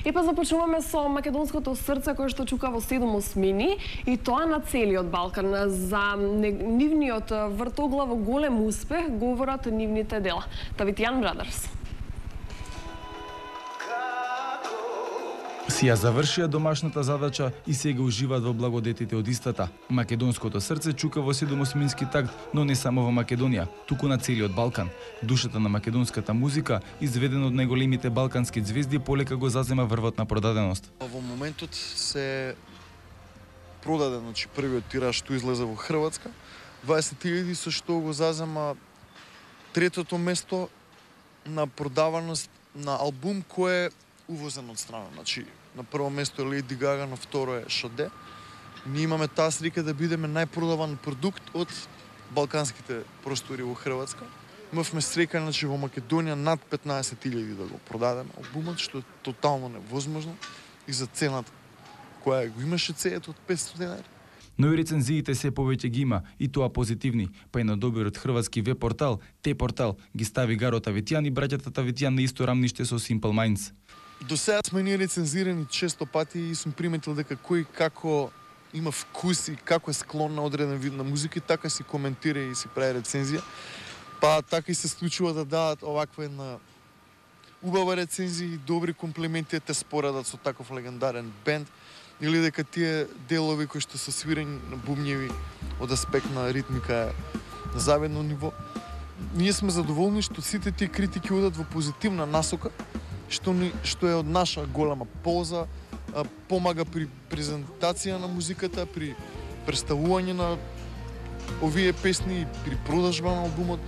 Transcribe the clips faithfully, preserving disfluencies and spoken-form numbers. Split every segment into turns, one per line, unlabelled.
И па започнуваме со македонското срце кое што чука во седум осмини и тоа на целиот Балкан. За нивниот вртоглаво голем успех говорат нивните дела. Тавитијан Брадерс.
Си ја завршија домашната задача и сега уживаат во благодетите од истата. Македонското срце чука во седумосмински такт, но не само во Македонија, туку на целиот Балкан. Душата на македонската музика, изведена од најголемите балкански ѕвезди, полека го зазема врвот на продаденост.
Во моментот се продаден, значи првиот тираж што излезе во Хрватска, дваесет илјади, со што го зазема третото место на продаваност на албум кој е увозен од страна. Значи, на прво место е Лејди Гага, на второ е Шаде. Ние имаме таа срика да бидеме најпродаван продукт од балканските простори во Хрватска. Имавме срека, значи, во Македонија над петнаесет илјади да го продадеме албумот, што е тотално невозможно и за цената која го имаше цејата од петстотини денари.
Но и рецензиите се повеќе ги има, и тоа позитивни, па и на добриот хрватски веб портал, Т-портал, ги стави Гаро Тавитијан и браќата Тавитијан на исто рамниште со Simple Minds.
До сега сме ние рецензирани често пати и сум приметил дека кој како има вкус и како е склон на одреден вид на музика и така си коментира и си прави рецензија. Па така и се случува да дадат оваква една убава рецензија и добри комплименти те споредат со таков легендарен бенд или дека тие делови кои што се свирани на бубњеви од аспект на ритмика е на завидно ниво. Ние сме задоволни што сите тие критики одат во позитивна насока, што ни што е од наша голема полза, а, помага при презентација на музиката, при представување на овие песни и при продажба на албумот.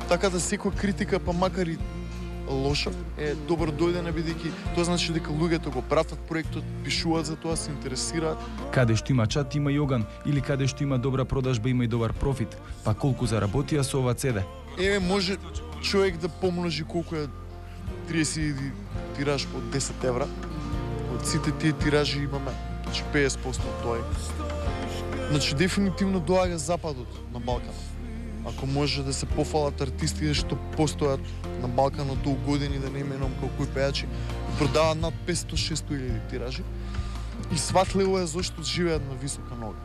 Така да секоја критика, па макар и лоша, е добро дојдена, бидејќи тоа значи дека луѓето го пратат проектот, пишуваат за тоа, се интересираат.
Каде што има чат, има и оган, или каде што има добра продажба, има и добар профит. Па колку заработија со ова цеде?
Еве може човек да помножи колку е триесет илјади тираж по десет евра. Од сите тие тиражи имаме значи петдесет проценти од тоа. Значи дефинитивно доаѓа западот на Балкан. Ако може да се пофалат артисти што постојат на Балканот долу години, да не именувам колку и пејачи, продаваат над петстотини до шестстотини илјади тиражи и сватливо е зашто живеат на висока нога.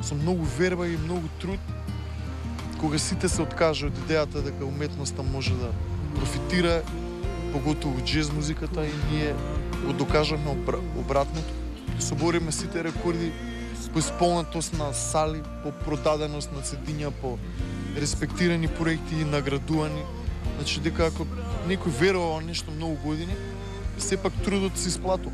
Со многу верба и многу труд, кога сите се откажа од идејата дека уметноста може да профитира, поготово џез музиката, и ние го докажаме обратното. Се бориме сите рекорди по исполнетост на сали, по продаденост на цедиња, по респектирани проекти и наградувани. Значи дека ако некој верува во нешто многу години, сепак трудот се исплатува.